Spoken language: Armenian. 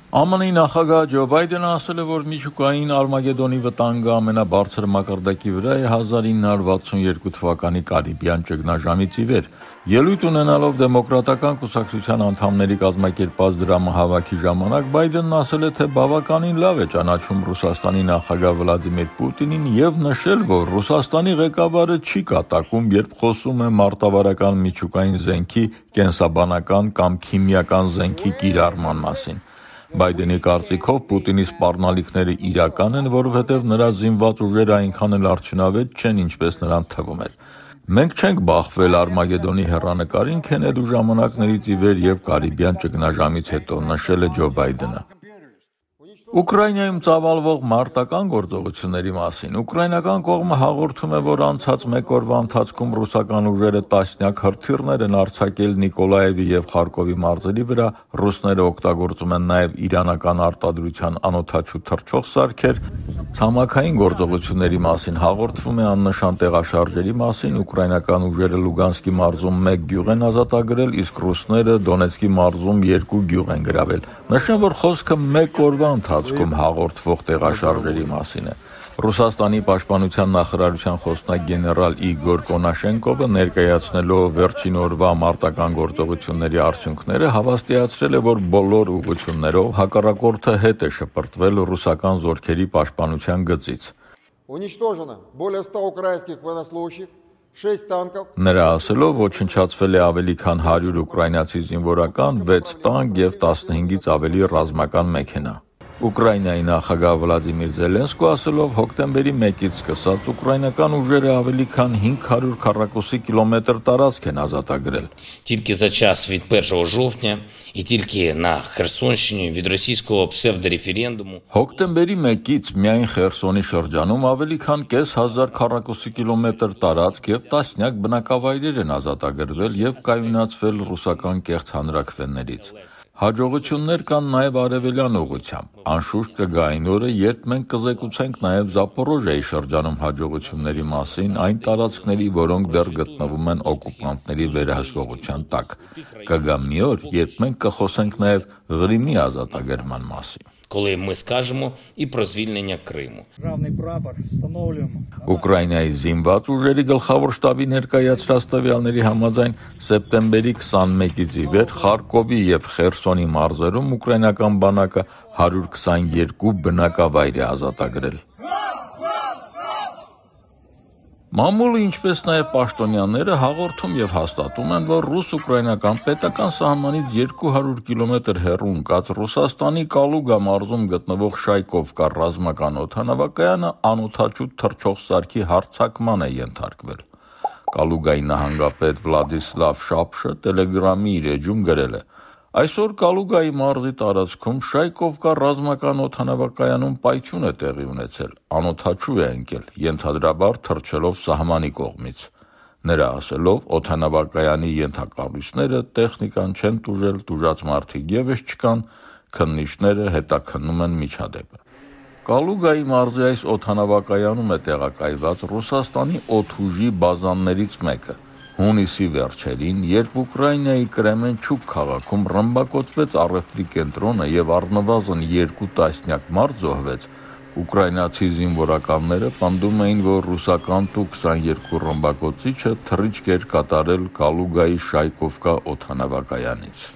ԱՄՆ-ի նախագահ Ջո Բայդենը ասել է, որ միջուկային Արմագեդոնի վտանգը ամենաբարձր մակարդակի վրա է 1962 թվականի Կարիբյան ճգնաժամից ի վեր։ Ելույթ ունենալով դեմոկրատական կուսակցության անդամների կազմակերպած դրամահավաքի ժամանակ Բայդենն ասել է, թե բավականին լավ է ճանաչում Ռուսաստանի նախագահ Վլադիմիր Պուտինին եւ նշել, որ Ռուսաստանի ղեկավարը չի կատակում, երբ խոսում է մարտավարական միջուկային զենքի, կենսաբանական կամ քիմիական զենքի կիրառման մասին։ Բայդենի կարծիքով Պուտինի սպառնալիքները իրական են, որովհետև նրա զինված ուժերը այնքան էլ արդյունավետ չեն, ինչպես նրան թվում էր։ Մենք չենք բախվել Արմագեդոնի հեռանկարին քենելու ժամանակներից ի վեր եւ Կարիբյան ճգնաժամից հետո, նշել է Ջո Բայդենը։ Ուկրաինայում ծավալվող մարտական գործողությունների մասին ուկրաինական կողմը հաղորդում է, որ անցած մեկ օրվա ընթացքում ռուսական ուժերը տասնյակ հրթիռներ են արձակել Նիկոլաևի եւ Խարկովի մարզերի վրա, ռուսները օգտագործում են նաեւ իրանական արտադրության անօդաչու թռչող սարքեր։ Ցամաքային գործողությունների մասին հաղորդվում է աննշան տեղաշարժերի մասին, ուկրաինական ուժերը Լուգանսկի մարզում 1 գյուղ են ազատագրել, իսկ ռուսները Դոնեցկի մարզում 2 գյուղ են գրավել։ Նշեմ, որ խոսքը մեկ օրվա ընթացքում հաղորդվող տեղաշարժերի մասին է։ Ռուսաստանի պաշտպանության նախարարության խոսնակ գեներալ Իգոր Կոնաշենկովը ներկայացնելով վերջին օրվա մարտական գործողությունների արդյունքները հավաստիացրել է, որ բոլոր ուղղություններով հակառակորդը հետ է շպրտվել ռուսական զորքերի պաշտպանության գծից։ Уничтожено более 100 украинских военнослужащих, 6 танков։ Նրա ասելով ոչնչացվել է ավելի քան 100 ուկրաինացի զինվորական, 6 տանկ եւ 15-ից ավելի ռազմական մեքենա։ Ուկրաինայի նախագահ Վլադիմիր Զելենսկու ասելով հոկտեմբերի 1-ից սկսած ուկրաինական ուժերը ավելի քան 500 քառակուսի կիլոմետր տարածք են ազատագրել։ Тільки за час від 1 жовтня і тільки на Херсонщині від російського псевдореферендуму Հոկտեմբերի 1-ից միայն Խերսոնի շրջանում ավելի քան 500 քառակուսի կիլոմետր տարածք եւ տասնյակ բնակավայրեր են ազատագրվել եւ կայունացվել ռուսական կեղծ հանրաքվեներից։ Հաջողություններ կան նաև արևելյան ուղղությամբ։ Անշուշտ կգա այն օրը, երբ մենք կզեկուցենք նաև Զապորոժիայի շրջանում հաջողությունների մասին, այն տարածքների, որոնք դեռ գտնվում են օկուպանտների վերահսկողության տակ։ Կգա մի օր, երբ մենք կխոսենք նաև Ղրիմի ազատագրման մասին։ коли ми скажемо і про звільнення Криму. Ուկրաինայի զինված ուժերի գլխավոր շտաբի ներկայացրած տվյալների համաձայն սեպտեմբերի 21-ից ի վեր Խարկովի եւ Խերսոնի մարզերում ուկրաինական բանակը 122 բնակավայր է ազատագրել։ Մամուլը, ինչպես նաև պաշտոնյաները հաղորդում եւ հաստատում են, որ ռուս-ուկրաինական պետական սահմանից 200 կիլոմետր հեռու ընկած Ռուսաստանի Կալուգա մարզում գտնվող Շայկովկա ռազմական օդանավակայանը անօդաչու թռչող սարքի հարձակման է ենթարկվել։ Կալուգայի նահանգապետ Վլադիսլավ Շապշը Տելեգրամի իր էջում գրել է. Այսօր Կալուգայի մարզի տարածքում Շայկովկա ռազմական օդանավակայանում պայթյուն է տեղի ունեցել, անօդաչու է ընկել, ենթադրաբար թռչելով սահմանի կողմից։ Նրա ասելով, օդանավակայանի ենթակառույցները տեխնիկան չեն տուժել, տուժած մարդիկ ևս չկան, քննիչները հետաքննում են միջադեպը։ Կալուգայի մարզի այս օդանավակայանում է տեղակայված Ռուսաստանի օդուժի բազաներից մեկը։ Հունիսի վերջերին, երբ Ուկրաինայի Կրեմենչուկ քաղաքում ռմբակոծվեց առևտրի կենտրոնը եւ առնվազն 2 տասնյակ մարդ զոհվեց, ուկրաինացի զինվորականները պնդում էին, որ ռուսական Tu-22 ռմբակոծիչը թռիչք էր կատարել Կալուգայի Շայկովկա օդանավակայանից։